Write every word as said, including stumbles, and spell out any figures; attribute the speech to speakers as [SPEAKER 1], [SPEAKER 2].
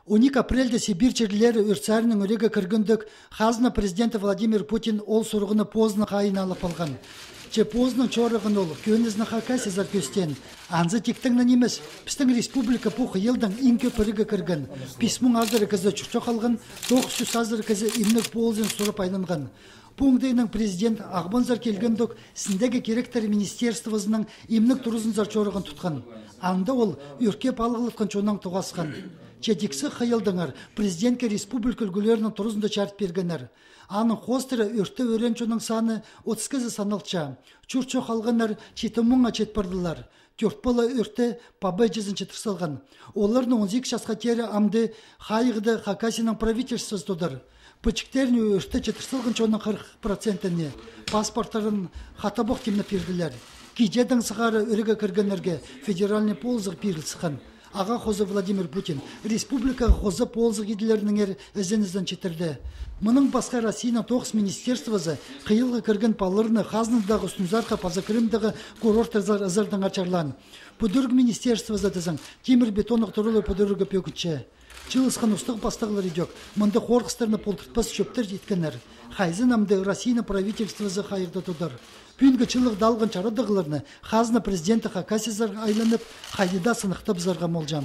[SPEAKER 1] он екі апрельде Сибирь черлері өртсарының өреге кіргіндік қазына президенті Владимир Путин ол сұрғыны позны қайын алып алған. Че позның чорығын ол, көнізні хакаси зар көстен. Анзы тектіңнен емес, біздің республика пұқы елдің инке пірігі кірген. Писмың азыры кізі чүрчі қалған, тоғыз жүз азыры кізі имнік ползен сұрып айланған. Пуңдайның президент Ағбанзар келгендік сіндегі керектері министерствозының имнік тұрызынзар чорығын тұтқан. Анда ол үркеп алғылытқан чонан тұғасқан. Чедіксі қайылдыңар президентке республика үлгілерінің тұрызында чарт бергенер. Аның қостыры өртті өренчінің саны отыз кезі саналча. Чүрчі қалғанар четі мұңа четпардылар. Төртбалы өртті пабай жезін четірсалған. Олардың он екі жасқа тері амды қайығды Хакасияның правительствосы тұдыр. Пычықтерін өртті четірсалған чоның қырық процентіне паспорттарын хатабоқ темні перділер. Кейдедің сығары өріге кіргенерге федеральный ползық перілсіған. Аға қозы Владимир Путин республика қозы ползық еділерінің ер өзінізден четірді. Мұның басқа Россияның тоғыз министерствозы қиылға кірген палырыны қазнындағы үстінзарға пазакырымдағы курорт азардың ачарлан. Бұдырг министерствозы дызың темір бетонық тұрылы бұдырғы пөкітші. Чылысқан ұстық бастағылар едек, мұнды қорқыстарына полтыртпас шөптер жеткенер. Хайзын амды Россияның правительствозы қайырды тұдыр. Пүнгі чылық далғын чарадығыларны қазына президенті Хакасия айланып, қайдыда сынықтап зарға молжан.